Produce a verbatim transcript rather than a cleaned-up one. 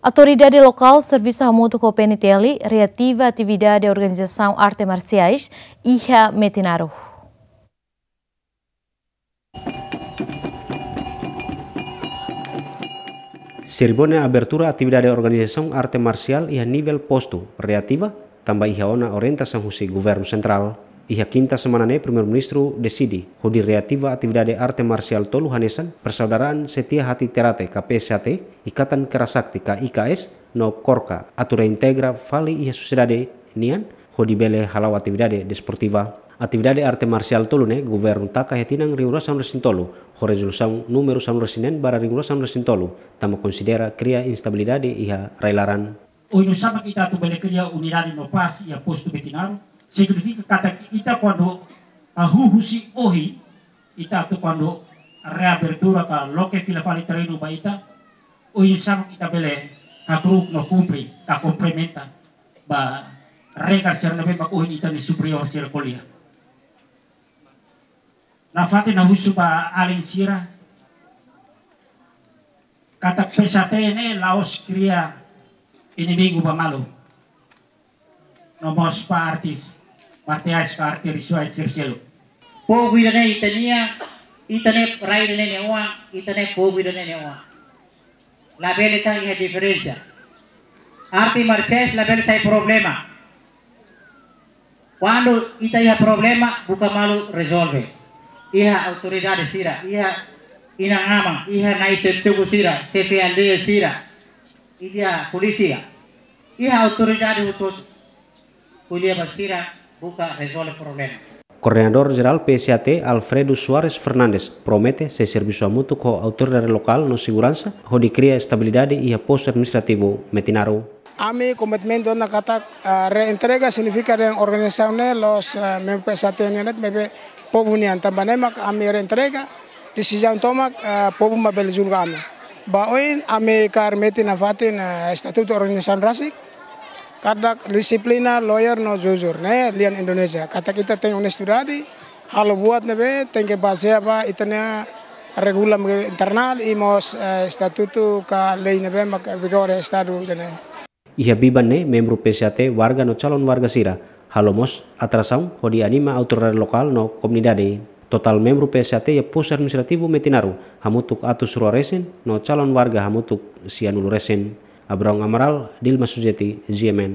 Autoridade lokál servisu hamutuk ho P N T L reativa atividade organizasaun arte marsiais iha Metinaro. Serimónia abertura atividade organizasaun arte marsiál iha nivel postu reativa, tanba iha ona orientasaun husi governu sentrál. Iha kinta semana ne'e, Primeiru-Ministru deside hodi reativa atividade arte marsiál tolu hanesan Persaudaraan Setia Hati Terate ka P S H T, Ikatan Kerasakti ka I K S, no KORKA, atu reintegra fali iha sosiedade nian, hodi bele hala'o atividade desportiva. Atividade arte marsiál tolu ne'e governu taka iha tinan rihun rua sanulu resin tolu, ho rezolusaun númeru sanulu resin neen barra rihun rua sanulu resin tolu, tanba konsidera kria instabilidade iha rai-laran. Oinsá mak ita atu bele kria unidade no pás iha postu Metinaro, signifika katak ita kuandu hahú husi ohin, ita atu kuandu reabertura ka loke fila fali terrenu ba ita, oinsá mak ita bele hakru'uk no kumpre ka komplementa ba regra sira ne'ebé mak ohin ita-nia superiór sira ko'alia. Nafatin ha'u husu ba alin sira, katak P S H T ne'e la'ós kria inimigu ba malu. No mós ba artes marsiais ka arte rituais sira seluk. Povu ida-ne'e ita-nia, ita-nia rai ida-ne'e nia oan, ita-nia povu ida-ne'e nia oan. Labele tan iha diferensa. Arte marsiais labele sai problema. Kuandu ita iha problema, buka malu rezolve. Iha autoridade sira, iha inan-aman, iha na'i suku sira, xefe aldeia sira, iha polísia, iha autoridade hotu-hotu. Ko'alia ba sira, buka rezolve problema. Koordenadór Jerál P S H T, Alfredo Soares Fernandes, promete sei servisu hamutuk ho autoridade lokál no seguransa, hodi kria estabilidade iha postu administrativu Metinaro. Ami komitmentu ona katak, ah, reentrega signifika dehan organizasaun ne'e la'ós, ah, membru P S H T nian de'it, maibé povu nian, tanba ne'e mak ami reentrega, desizaun tomak, ah, povu mak bele julga ami. Ba oin ami kaer metin nafatin, ah, estatutu organizasaun rasik, katak dixiplina, loyal no jujur, ne'e lian Indonézia. Katak ita tenke onestidade, halo buat ne'ebé tenke bazeia ba ita-nia regula internál i mós, eh, estatutu ka lei ne'ebé mak vigora iha estadu ida-ne'e. Iha biban ne'e, membru P S H T, warga no calon warga sira halo mós atrasaun hodi anima autoridade lokál no komunidade. Totál membru P S H T iha postu administrativu Metinaro hamutuk atus rua resin, no calon warga hamutuk sianulu resin. Abrão Amaral, Dilma Sujeti, G M N.